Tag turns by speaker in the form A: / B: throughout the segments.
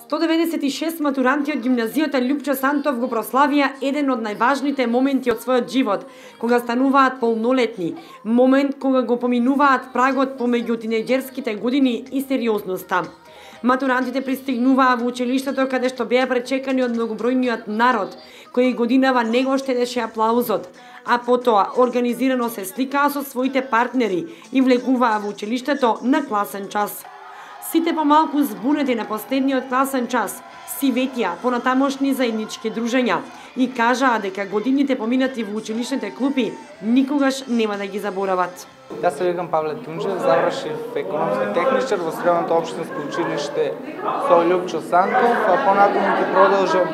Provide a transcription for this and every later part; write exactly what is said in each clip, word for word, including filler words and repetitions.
A: сто деветдесет и шест матуранти од гимназијата Љупчо Сантов го прославија еден од најважните моменти од својот живот, кога стануваат полнолетни, момент кога го поминуваат прагот помеѓу тинејџерските години и сериозноста. Матурантите пристигнуваа во училиштето каде што беа пречекани од многобројниот народ, кој годинава не го штедеше аплаузот, а потоа организирано се сликаа со своите партнери и влегуваа во училиштето на класен час. Сите помалку збунети на последниот класен час си ветија понатамошни заеднички дружења и кажаа дека годините поминати во училишните клупи никогаш нема да ги заборават.
B: Јас се викам Павле Тунџев, завршив економски техничар во средното општинско училиште со Љупчо Сантов, а понатаму ќе продолжам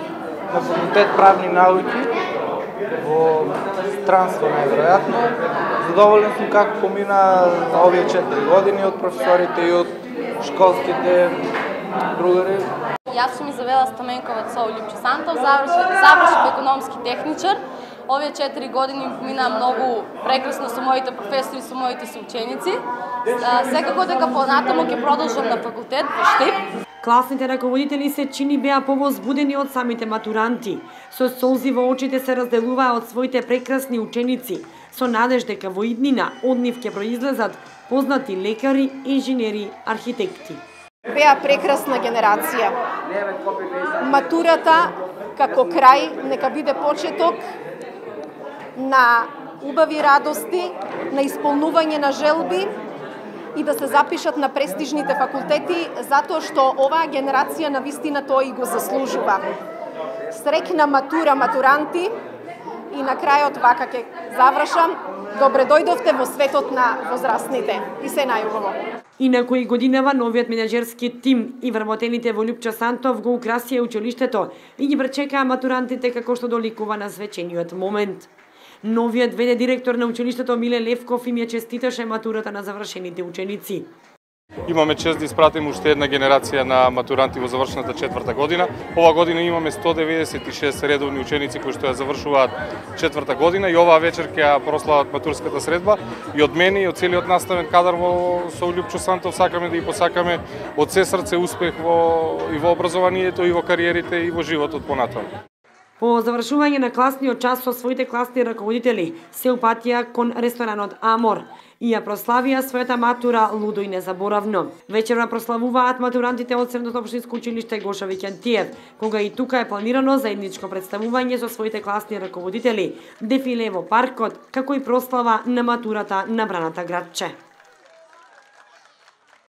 B: на факултет правни науки во странство најверојатно. Задоволен сум како помина овие четири години од професорите и од школските другари.
C: Јас сум Изавела Стаменкова со Љупчо Сантов, завршив, завршив економски техничар. Овие четири години мина многу прекрасно со моите професори, со моите соученици. Секако дека понатаму ќе продолжам на факултет во Штип.
A: Класните раководители се чини беа повозбудени од самите матуранти. Со солзи во очите се разделуваа од своите прекрасни ученици, со надеж дека во иднина од нив ќе произлезат познати лекари, инженери, архитекти.
D: Беа прекрасна генерација. Матурата како крај нека биде почеток на убави радости, на исполнување на желби и да се запишат на престижните факултети, затоа што оваа генерација на вистина тоа и го заслужува. Среќна матура, матуранти, и на крајот вака ќе завршам. Добре дојдовте во светот на возрастните и се најубаво.
A: Инаку и годинава новиот менаџерски тим и вработените во Љупчо Сантов го украсија училиштето и ги пречекаа матурантите како што доликува на свечениот момент. Новиот ве де директор на училиштето Миле Левков им ја честиташе матурата на завршените ученици.
E: Имаме чест да испратиме уште една генерација на матуранти во завршената четврта година. Ова година имаме сто деветдесет и шест редовни ученици кои што ја завршуваат четврта година и оваа вечер ќе ја прослават матурската средба. И од мене и од целиот наставен кадар во со Љупчо Сантов сакаме да ги посакаме од се срце успех во и во образованието и во кариерите и во животот понатаму.
A: По завршување на класниот час со своите класни раководители се упатија кон ресторанот Амор и ја прославија својата матура лудо и незаборавно. Вечерва прославуваат матурантите од Средното општинско училиште Гоша Викентиев, кога и тука е планирано заедничко представување со своите класни раководители, дефиле во паркот, како и прослава на матурата на браната градче.